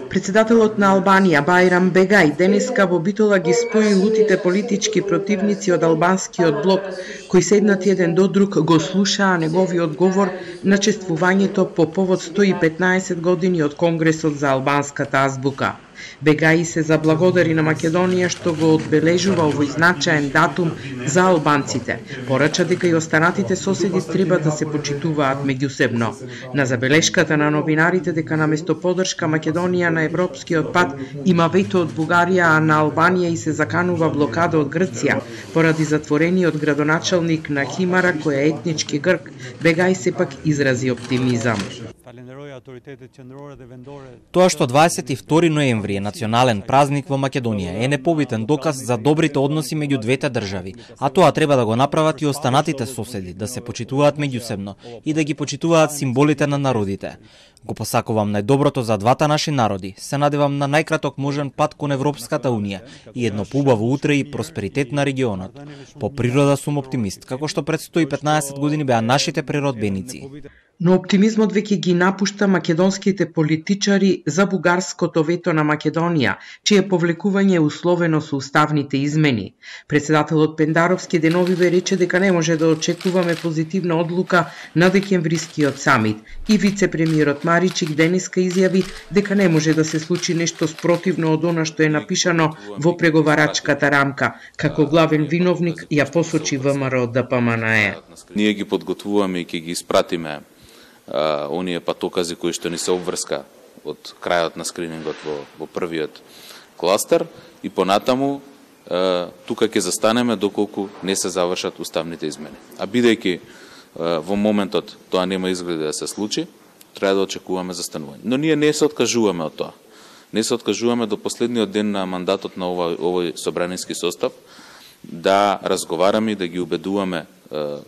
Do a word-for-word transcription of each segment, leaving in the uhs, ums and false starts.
Председателот на Албанија Бајрам Бегај денеска во Битола ги спои лутите политички противници од албанскиот блок кои седнати еден до друг го слушаа неговиот говор на чествувањето по повод сто и петнаесет години од Конгресот за албанската азбука. Бегај се заблагодари на Македонија што го одбележува овој значаен датум за албанците. Порача дека и останатите соседи треба да се почитуваат меѓусебно. На забелешката на новинарите дека наместо поддршка Македонија на европскиот пат има вето од Бугарија, а на Албанија и се заканува блокада од Грција поради затворениот градоначалник на Химара кој е етнички грк, Бегај сепак изрази оптимизам. Тоа што дваесет и втори ноември е национален празник во Македонија е непобитен доказ за добрите односи меѓу двете држави, а тоа треба да го направат и останатите соседи, да се почитуваат меѓусебно и да ги почитуваат символите на народите. Го посакувам најдоброто за двата наши народи, се надевам на најкраток можен пат кон Европската Унија и едно поубаво утре и просперитет на регионот. По природа сум оптимист, како што пред сто и петнаесет години беа нашите природбеници. Но оптимизмот веќе ги напушта македонските политичари за бугарското вето на Македонија, чие повлекување е условено со уставните измени. Председателот Пендаровски деновиве рече дека не може да очекуваме позитивна одлука на декемврискиот самит и вице-премиерот Маричик денеска изјави дека не може да се случи нешто спротивно од она што е напишано во преговарачката рамка. Како главен виновник ја посочи ВМРО Д П М Н Е. Ние ги подготвуваме и ќе ги испратиме Uh, оние патокази кои што ни се обврска од крајот на скринингот во, во првиот кластер и понатаму uh, тука ќе застанеме доколку не се завршат уставните измени. А бидејќи uh, во моментот тоа нема изгледа да се случи, треба да очекуваме застанување. Но ние не се откажуваме од тоа. Не се откажуваме до последниот ден на мандатот на овој, овој собраниски состав да разговараме и да ги убедуваме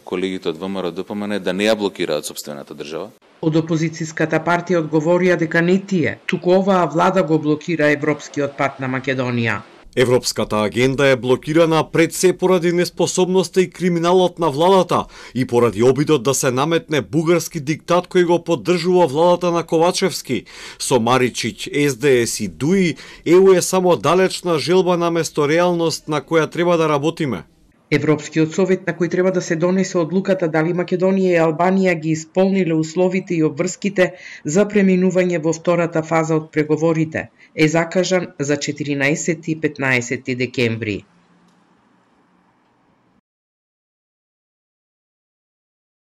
колегите од ВМРО Д П М Н да не ја блокираат сопствената држава. Од опозицијската партија одговорија дека не тие, туку оваа влада го блокира европскиот пат на Македонија. Европската агенда е блокирана пред се поради неспособноста и криминалот на владата и поради обидот да се наметне бугарски диктат кој го поддржува владата на Ковачевски. Со Маричич, С Д С и ДУИ, Е У е само далечна желба наместо реалност на која треба да работиме. Европскиот совет на кој треба да се донесе одлуката дали Македонија и Албанија ги исполниле условите и обврските за преминување во втората фаза од преговорите, е закажан за четиринаесети и петнаесети декември.